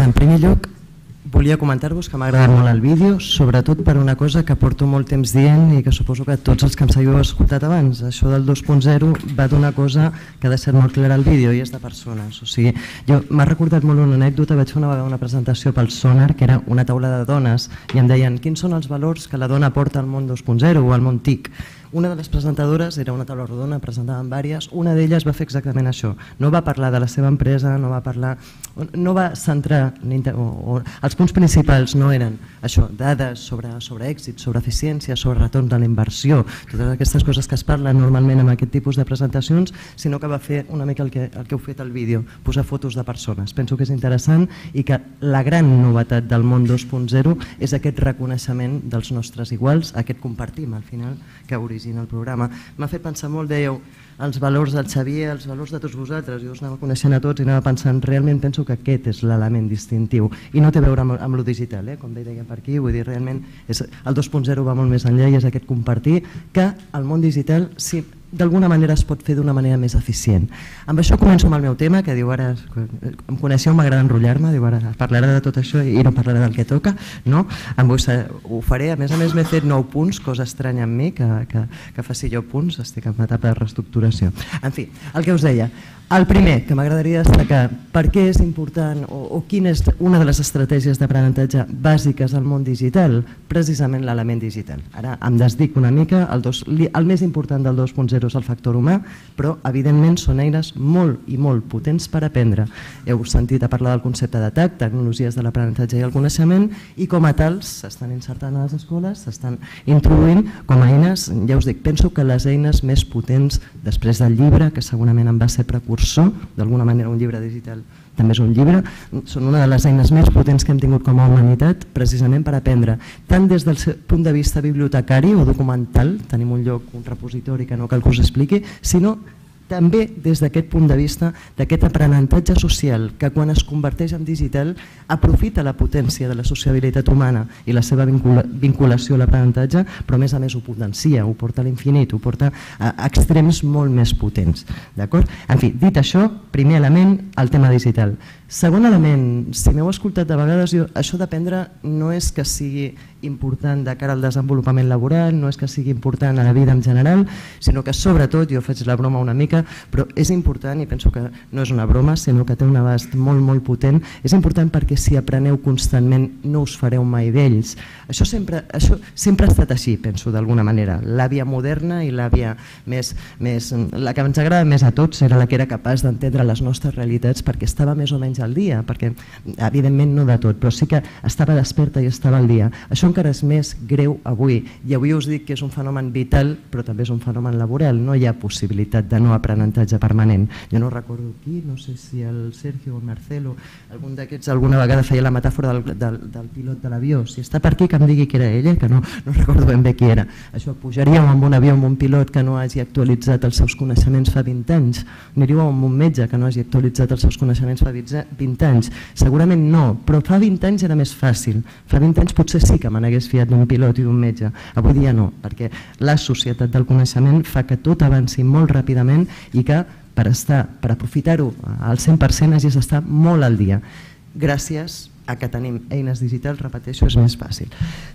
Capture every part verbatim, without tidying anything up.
veure, en primer lloc, volia comentar-vos que m'ha agradat molt el vídeo, sobretot per una cosa que porto molt temps dient i que suposo que tots els que em seguiu heu escoltat abans. Això del dos punt zero va d'una cosa que ha de ser molt clara al vídeo i és de persones. O sigui, jo m'ha recordat molt una anècdota, vaig fer una vegada una presentació pel Sonar, que era una taula de dones, i em deien quins són els valors que la dona porta al món dos punt zero o al món T I C. Una de les presentadores era una taula rodona, presentaven diverses, una d'elles va fer exactament això. No va parlar de la seva empresa, no va parlar, no va centrar, o, o, els punts principals no eren això, dades sobre, sobre èxit, sobre eficiència, sobre retorn de la inversió, totes aquestes coses que es parlen normalment en aquest tipus de presentacions, sinó que va fer una mica el que, el que heu fet al vídeo, posar fotos de persones. Penso que és interessant i que la gran novetat del món dos punt zero és aquest reconeixement dels nostres iguals, aquest compartim al final que origina el programa. M'ha fet pensar molt, dèieu, els valors del Xavier, els valors de tots vosaltres, jo us anava coneixent a tots i anava pensant, realment penso que aquest és l'element distintiu i no té a veure amb, amb lo digital, eh? Com deia per aquí, vull dir, realment és, el dos punt zero va molt més enllà i és aquest compartir que el món digital sí, d'alguna manera es pot fer d'una manera més eficient. Amb això començo amb el meu tema, que diu ara, em coneixeu, m'agrada enrotllar-me, diu ara parlarà de tot això i no parlarà del que toca, no? Ho faré, a més a més m'he fet nou punts, cosa estranya en mi, que, que, que faci jo punts, estic en etapa de reestructuració. En fi, el que us deia, el primer que m'agradaria destacar, per què és important o, o quina és una de les estratègies d'aprenentatge bàsiques al món digital? Precisament l'element digital. Ara em desdic una mica, el, dos, el més important del dos punt zero és el factor humà, però evidentment són eines molt i molt potents per aprendre. Heu sentit a parlar del concepte de T A C, tecnologies de l'aprenentatge i el coneixement, i com a tals s'estan insertant a les escoles, s'estan introduint com a eines, ja us dic, penso que les eines més potents després del llibre, que segurament en va ser precursor, d'alguna manera un llibre digital també és un llibre, són una de les eines més potents que hem tingut com a humanitat precisament per aprendre, tant des del punt de vista bibliotecari o documental, tenim un lloc, un repositori que no cal que us expliqui, sinó també des d'aquest punt de vista d'aquest aprenentatge social que quan es converteix en digital aprofita la potència de la sociabilitat humana i la seva vincula, vinculació a l'aprenentatge, però a més a més ho potencia, ho porta a l'infinit, ho porta a extrems molt més potents. En fi, dit això, primer element, el tema digital. Segon element, si m'heu escoltat de vegades, jo, això d'aprendre no és que sigui important de cara al desenvolupament laboral, no és que sigui important a la vida en general, sinó que sobretot, jo faig la broma una mica, però és important, i penso que no és una broma, sinó que té un abast molt, molt potent, és important perquè si apreneu constantment no us fareu mai vells. Això sempre, això sempre ha estat així, penso, d'alguna manera. La via moderna i la via més, més, la que ens agrada més a tots era la que era capaç d'entendre les nostres realitats perquè estava més o menys al dia, perquè evidentment no de tot, però sí que estava desperta i estava al dia. Això encara és més greu avui, i avui us dic que és un fenomen vital, però també és un fenomen laboral, no hi ha possibilitat de no aprenentatge permanent. Jo no recordo qui, no sé si el Sergio o el Marcelo, algun d'aquests alguna vegada feia la metàfora del, del, del pilot de l'avió, si està per aquí que em digui que era ella, que no, no recordo ben bé qui era. Això, pujaríeu amb un avió amb un pilot que no hagi actualitzat els seus coneixements fa vint anys, aniríeu amb un metge que no hagi actualitzat els seus coneixements fa vint anys, segurament no, però fa vint anys era més fàcil, fa vint anys potser sí que me n'hagués fiat d'un pilot i d'un metge, avui dia no, perquè la societat del coneixement fa que tot avanci molt ràpidament i que per estar, per aprofitar-ho al cent per cent hagis d'estar molt al dia. Gràcies a que tenim eines digitals, repeteixo, és més fàcil.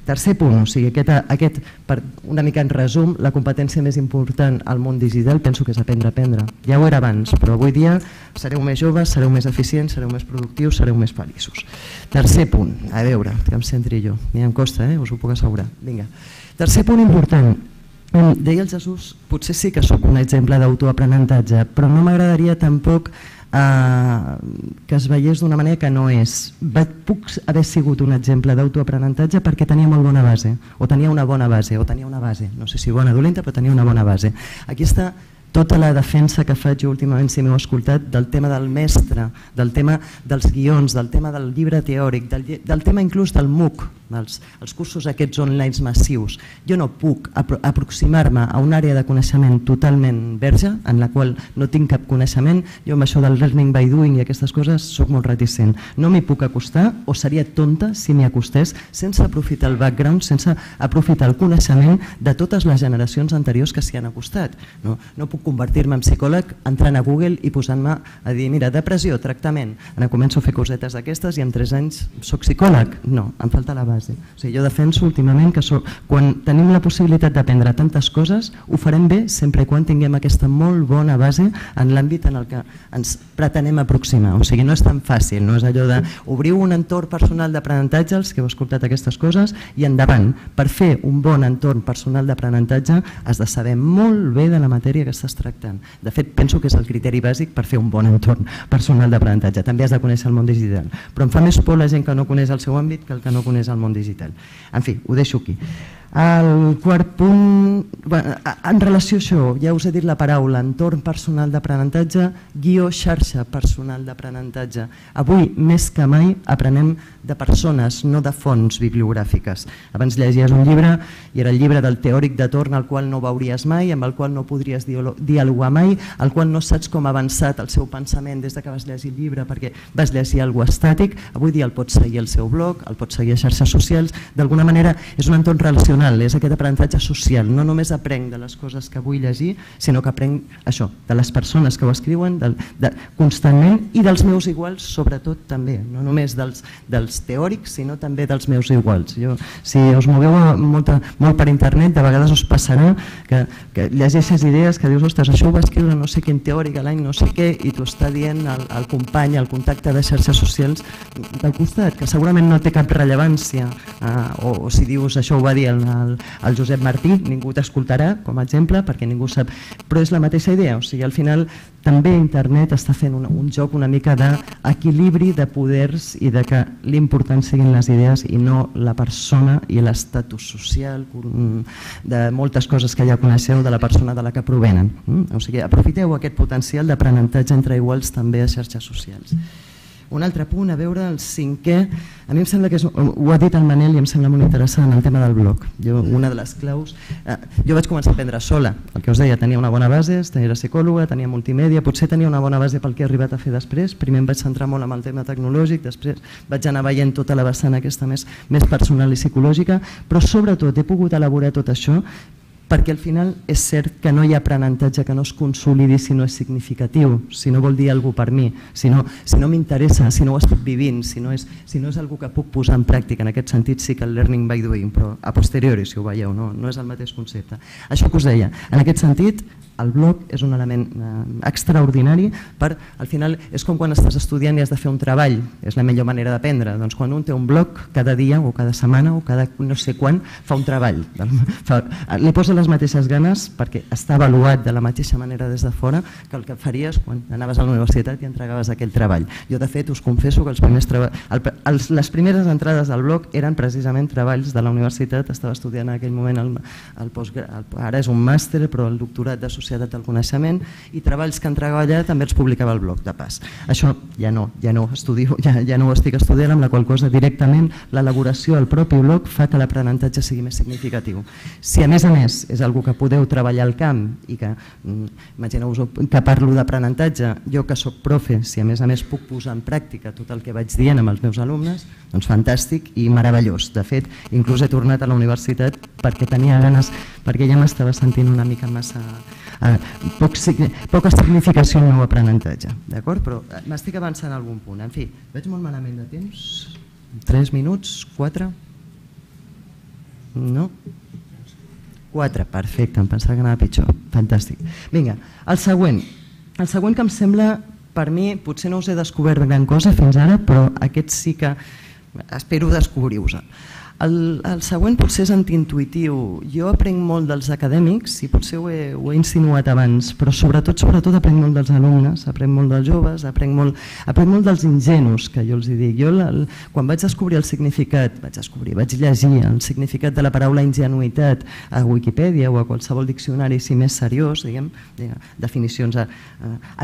Tercer punt, o sigui, aquest, aquest, per una mica en resum, la competència més important al món digital penso que és aprendre a aprendre. Ja ho era abans, però avui dia sereu més joves, sereu més eficients, sereu més productius, sereu més feliços. Tercer punt, a veure, que em centri jo, ni em costa, eh? Us ho puc assegurar. Vinga. Tercer punt important, deia el Jesús, potser sí que sóc un exemple d'autoaprenentatge, però no m'agradaria tampoc que es veiés d'una manera que no és. Puc haver sigut un exemple d'autoaprenentatge perquè tenia molt bona base, o tenia una bona base, o tenia una base, no sé si bona o dolenta, però tenia una bona base. Aquí està tota la defensa que faig jo últimament, si m'heu escoltat, del tema del mestre, del tema dels guions, del tema del llibre teòric, del tema inclús del MOOC, els, els cursos aquests online massius, jo no puc apro aproximar-me a una àrea de coneixement totalment verge, en la qual no tinc cap coneixement. Jo amb això del learning by doing i aquestes coses soc molt reticent. No m'hi puc acostar, o seria tonta si m'hi acostés sense aprofitar el background, sense aprofitar el coneixement de totes les generacions anteriors que s'hi han acostat. No, no puc convertir-me en psicòleg entrant a Google i posant-me a dir, mira, depressió, tractament. Ara començo a fer cosetes d'aquestes i en tres anys soc psicòleg. No, em falta la base. O sigui, jo defenso últimament que soc, quan tenim la possibilitat d'aprendre tantes coses, ho farem bé sempre i quan tinguem aquesta molt bona base en l'àmbit en el que ens pretenem aproximar. O sigui, no és tan fàcil, no és allò d'obrir un entorn personal d'aprenentatge, els que heu escoltat aquestes coses, i endavant. Per fer un bon entorn personal d'aprenentatge has de saber molt bé de la matèria que estàs tractant. De fet, penso que és el criteri bàsic per fer un bon entorn personal d'aprenentatge. També has de conèixer el món digital. Però em fa més por la gent que no coneix el seu àmbit que el que no coneix el món digital. En fi, ho deixo aquí. El quart punt, en relació a això, ja us he dit la paraula, entorn personal d'aprenentatge, guió xarxa personal d'aprenentatge. Avui, més que mai, aprenem de persones, no de fonts bibliogràfiques. Abans llegies un llibre i era el llibre del teòric de torn al qual no veuries mai, amb el qual no podries dialogar mai, al qual no saps com ha avançat el seu pensament des que vas llegir el llibre perquè vas llegir alguna cosa estàtic. Avui dia el pots seguir al seu blog, el pots seguir a xarxes socials. D'alguna manera és un entorn relacional, és aquest aprenentatge social. No només aprenc de les coses que vull llegir, sinó que aprenc això, de les persones que ho escriuen de, de, constantment, i dels meus iguals sobretot també, no només dels, dels teòrics, sinó també dels meus iguals. Jo, si us moveu molta, molt per internet, de vegades us passarà que, que llegeixes idees que dius, ostres, això ho va escriure no sé quin teòric a l'any no sé què, i t'ho està dient el, el company, el contacte de xarxes socials del costat, que segurament no té cap rellevància, eh, o, o si dius això ho va dir el El, el Josep Martí, ningú t'escoltarà com a exemple perquè ningú sap, però és la mateixa idea. O sigui, al final també internet està fent un, un joc una mica d'equilibri de poders i de que l'important siguin les idees i no la persona i l'estatus social de moltes coses que ja coneixeu de la persona de la que provenen. O sigui, aprofiteu aquest potencial d'aprenentatge entre iguals també a xarxes socials. Un altre punt, a veure, el cinquè, a mi em sembla que és, ho ha dit el Manel i em sembla molt interessant, el tema del blog. Jo, una de les claus, eh, jo vaig començar a aprendre sola, el que us deia, tenia una bona base, era psicòloga, tenia multimèdia, potser tenia una bona base pel que he arribat a fer després, primer em vaig centrar molt en el tema tecnològic, després vaig anar veient tota la vessant aquesta més, més personal i psicològica, però sobretot he pogut elaborar tot això perquè al final és cert que no hi ha aprenentatge que no es consolidi si no és significatiu, si no vol dir alguna cosa per mi, si no, si no m'interessa, si no ho estic vivint, si no és, si no és alguna que puc posar en pràctica. En aquest sentit sí que el learning by doing, però a posteriori, si ho veieu, no, no és el mateix concepte. Això que us deia, en aquest sentit el blog és un element eh, extraordinari per, al final és com quan estàs estudiant i has de fer un treball, és la millor manera d'aprendre. Doncs quan un té un blog, cada dia o cada setmana o cada no sé quan fa un treball, fa, li posa les mateixes ganes perquè està avaluat de la mateixa manera des de fora que el que faries quan anaves a la universitat i entregaves aquell treball. Jo de fet us confesso que els primers treba... el, els, les primeres entrades al blog eren precisament treballs de la universitat, estava estudiant en aquell moment el, el post, el, ara és un màster però el doctorat de Societat del Coneixement, i treballs que entregava allà també els publicava al blog de pas. Això ja no, ja no estudio, ja, ja no ho estic estudiant, amb la qual cosa directament l'elaboració al propi blog fa que l'aprenentatge sigui més significatiu. Si a més a més és algo que podeu treballar al camp i que, imagineu-vos que parlo d'aprenentatge, jo que soc profe, si a més a més puc posar en pràctica tot el que vaig dient amb els meus alumnes, doncs fantàstic i meravellós. De fet, inclús he tornat a la universitat perquè tenia ganes, perquè ja m'estava sentint una mica massa... Eh, poc, poca significació en el meu aprenentatge, d'acord? Però m'estic avançant a algun punt. En fi, veig molt malament de temps. Tres minuts? Quatre? No? Quatre, perfecte, em pensava que anava pitjor. Fantàstic. Vinga, el següent. El següent que em sembla, per mi, potser no us he descobert gran cosa fins ara, però aquest sí que espero descobrir-vos. El, el següent potser és antiintuitiu. Jo aprenc molt dels acadèmics i potser ho he, ho he insinuat abans, però sobretot sobretot aprenc molt dels alumnes, aprenc molt dels joves, aprenc molt, aprenc molt dels ingenus, que jo els dic. Jo, el, quan vaig descobrir el significat, vaig descobrir, vaig llegir el significat de la paraula ingenuïtat a Wikipedia o a qualsevol diccionari si més seriós, diguem, definicions eh,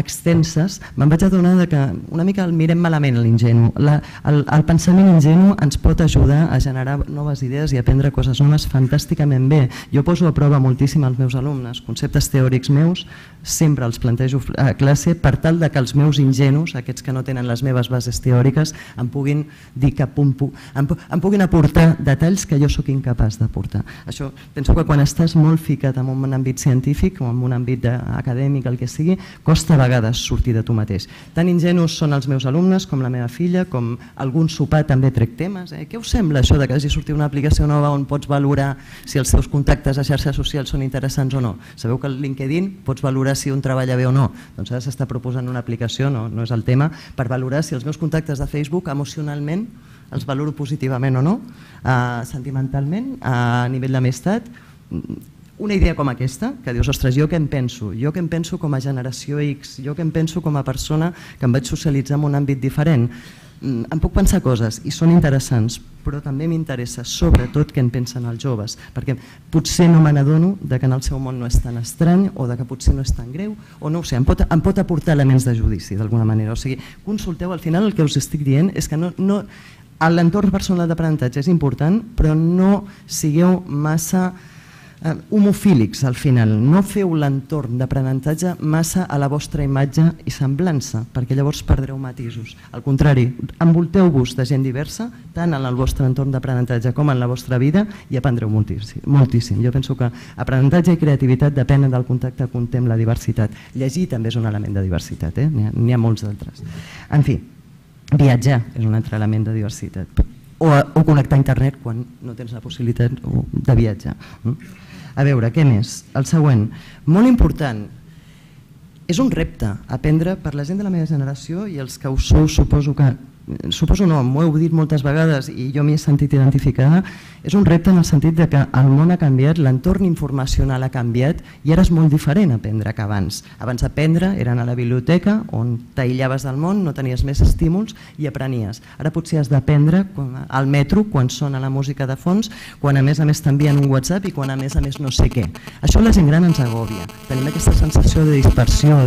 extenses, me'n vaig adonar que una mica el mirem malament l'ingenu. El, el pensament ingenu ens pot ajudar a generar noves idees i aprendre coses noves fantàsticament bé. Jo poso a prova moltíssim als meus alumnes, conceptes teòrics meus, sempre els plantejo a classe per tal de que els meus ingenus, aquests que no tenen les meves bases teòriques, em puguin dir que em puguin aportar detalls que jo sóc incapaç d'aportar. Això, penso que quan estàs molt ficat en un àmbit científic o en un àmbit acadèmic, el que sigui, costa a vegades sortir de tu mateix. Tan ingenus són els meus alumnes com la meva filla, com algun sopar també trec temes. Què us sembla això de que hagi sortit una aplicació nova on pots valorar si els teus contactes a xarxes socials són interessants o no? Sabeu que al LinkedIn pots valorar si un treballa bé o no? Doncs ara s'està proposant una aplicació, no és el tema, per valorar si els meus contactes de Facebook emocionalment els valoro positivament o no, sentimentalment, a nivell d'amistat. Una idea com aquesta, que dius, ostres, jo què em penso? Jo què em penso com a generació X? Jo què em penso com a persona que em vaig socialitzar en un àmbit diferent? Em puc pensar coses i són interessants, però també m'interessa sobretot què en pensen els joves, perquè potser no me n'adono que en el seu món no és tan estrany o que potser no és tan greu, o no ho sé, em pot aportar elements de judici d'alguna manera. O sigui, consulteu, al final el que us estic dient és que l'entorn personal d'aprenentatge és important, però no sigueu massa homofílics al final, no feu l'entorn d'aprenentatge massa a la vostra imatge i semblança, perquè llavors perdreu matisos. Al contrari, envolteu-vos de gent diversa, tant en el vostre entorn d'aprenentatge com en la vostra vida, i aprendreu moltíssim. Jo penso que aprenentatge i creativitat depenen del contacte que un té amb la diversitat. Llegir també és un element de diversitat, n'hi ha molts d'altres. En fi, viatjar és un altre element de diversitat, o connectar a internet quan no tens la possibilitat de viatjar. A veure, què més? El següent, molt important, és un repte aprendre per la gent de la meva generació i els que ho sou suposo que, suposo no, m'ho heu dit moltes vegades i jo m'hi he sentit identificada, és un repte en el sentit que el món ha canviat, l'entorn informacional ha canviat i ara és molt diferent aprendre que abans. Abans aprendre era anar a la biblioteca on t'aïllaves del món, no tenies més estímuls i aprenies. Ara potser has d'aprendre al metro quan sona la música de fons, quan a més a més t'envien un WhatsApp i quan a més a més no sé què. Això la gent gran ens agòbia. Tenim aquesta sensació de dispersió,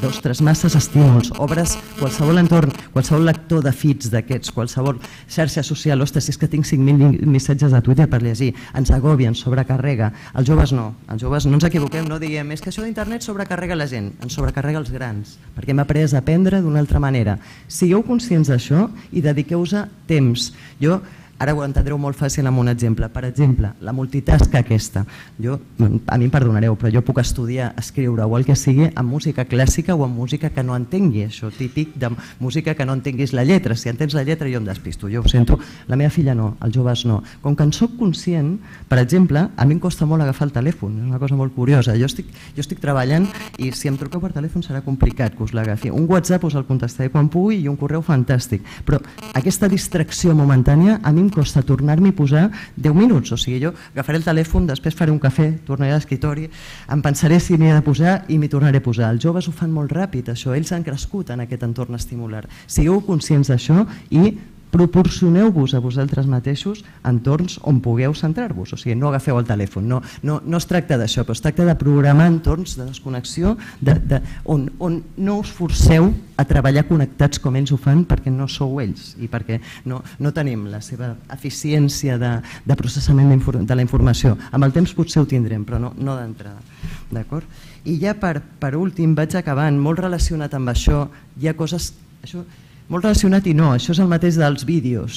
d'ostres, masses estímuls, obres qualsevol entorn, qualsevol lector de feeds d'aquests, qualsevol xarxa social, ostres, és que tinc cinc mil missatges a Twitter per llegir, ens agòbia, ens sobrecarrega. Els joves no, els joves no ens equivoquem, no diguem, és que això d'internet sobrecarrega la gent, ens sobrecarrega els grans, perquè hem après a aprendre d'una altra manera. Sigueu conscients d'això i dediqueu-vos temps. Jo ara ho entendreu molt fàcil amb un exemple. Per exemple, la multitasca aquesta. Jo, a mi em perdonareu, però jo puc estudiar, escriure o el que sigui amb música clàssica o amb música que no entengui. Això típic de música que no entenguis la lletra. Si entens la lletra jo em despisto, jo ho sento. La meva filla no, els joves no. Com que en soc conscient, per exemple, a mi em costa molt agafar el telèfon. És una cosa molt curiosa. Jo estic, jo estic treballant i si em truqueu per telèfon serà complicat que us l'agafi. Un WhatsApp us el contestaré quan pugui i un correu fantàstic. Però aquesta distracció momentània a mi em costa tornar-m'hi a posar deu minuts, o sigui, jo agafaré el telèfon, després faré un cafè, tornaré a l'escriptori, em pensaré si m'hi he de posar i m'hi tornaré a posar. Els joves ho fan molt ràpid, això, ells han crescut en aquest entorn estimular. Sigueu conscients d'això i proporcioneu-vos a vosaltres mateixos entorns on pugueu centrar-vos, o sigui, no agafeu el telèfon, no, no, no es tracta d'això, però es tracta de programar entorns de desconnexió de, de, on, on no us forceu a treballar connectats com ells ho fan perquè no sou ells i perquè no, no tenim la seva eficiència de, de processament de la informació. Amb el temps potser ho tindrem, però no, no d'entrada. D'acord? I ja per, per últim vaig acabant, molt relacionat amb això, hi ha coses... Això, molt relacionat i no, això és el mateix dels vídeos.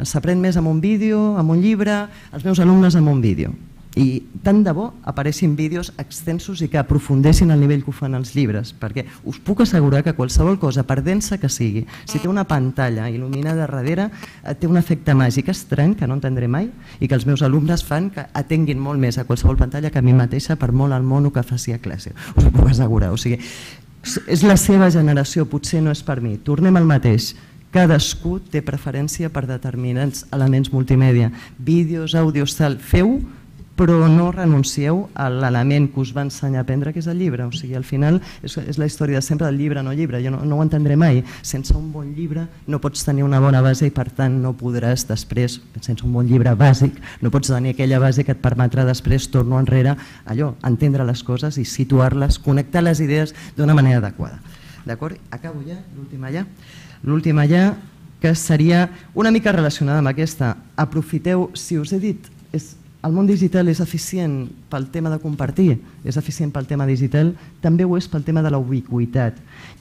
S'aprèn més amb un vídeo, amb un llibre, els meus alumnes amb un vídeo. I tant de bo apareixin vídeos extensos i que aprofundeixin el nivell que ho fan els llibres, perquè us puc assegurar que qualsevol cosa, per densa que sigui, si té una pantalla il·luminada darrere, té un efecte màgic estrany que no entendré mai i que els meus alumnes fan que atenguin molt més a qualsevol pantalla que a mi mateixa per molt el mono que faci a classe. Us ho puc assegurar. O sigui, és la seva generació, potser no és per mi. Tornem al mateix. Cadascú té preferència per determinats elements multimèdia. Vídeos, àudios, tal, feu, però no renuncieu a l'element que us va ensenyar a aprendre, que és el llibre. O sigui, al final és, és la història de sempre del llibre, no llibre. Jo no, no ho entendré mai. Sense un bon llibre no pots tenir una bona base i per tant no podràs després, sense un bon llibre bàsic, no pots tenir aquella base que et permetrà després, torno enrere, allò, entendre les coses i situar-les, connectar les idees d'una manera adequada. D'acord? Acabo ja, l'última ja. L'última ja, que seria una mica relacionada amb aquesta. Aprofiteu, si us he dit, el món digital és eficient pel tema de compartir, és eficient pel tema digital, també ho és pel tema de la ubiquitat.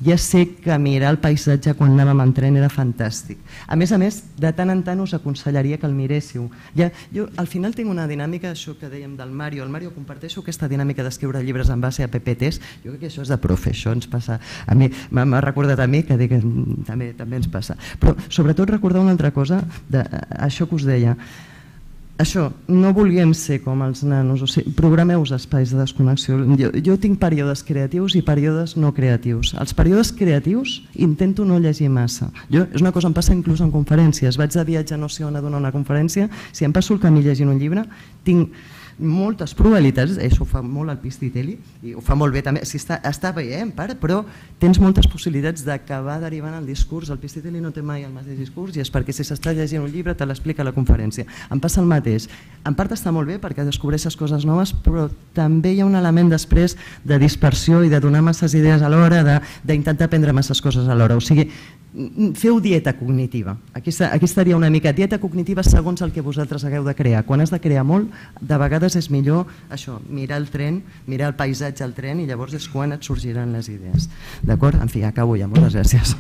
Ja sé que mirar el paisatge quan anàvem en tren era fantàstic. A més a més, de tant en tant us aconsellaria que el miréssiu. Jo al final tinc una dinàmica, això que dèiem del Mario, el Mario comparteixo aquesta dinàmica d'escriure llibres en base a P P Ts, jo crec que això és de profe, això ens passa, a mi m'ha recordat a mi que també ens passa. Però sobretot recordar una altra cosa, això que us deia, això, no vulguem ser com els nanos, o sigui, programeu espais de desconnexió. Jo, jo tinc períodes creatius i períodes no creatius. Els períodes creatius intento no llegir massa. Jo, és una cosa que em passa inclús en conferències. Vaig de viatge no sé on a donar una conferència, si em passo el camí llegint un llibre, tinc moltes probabilitats, això ho fa molt el Pistitelli i ho fa molt bé també, si està, està bé, eh, en part, però tens moltes possibilitats d'acabar derivant el discurs. El Pistitelli no té mai el mateix discurs i és perquè si s'està llegint un llibre te l'explica a la conferència. Em passa el mateix. En part està molt bé perquè descobreixes coses noves, però també hi ha un element després de dispersió i de donar masses idees alhora, d'intentar aprendre masses coses alhora. O sigui, feu dieta cognitiva. Aquí estaria una mica dieta cognitiva segons el que vosaltres hagueu de crear. Quan has de crear molt, de vegades és millor això, mirar el tren, mirar el paisatge al tren i llavors és quan et sorgiran les idees. D'acord? En fi, acabo ja. Moltes gràcies.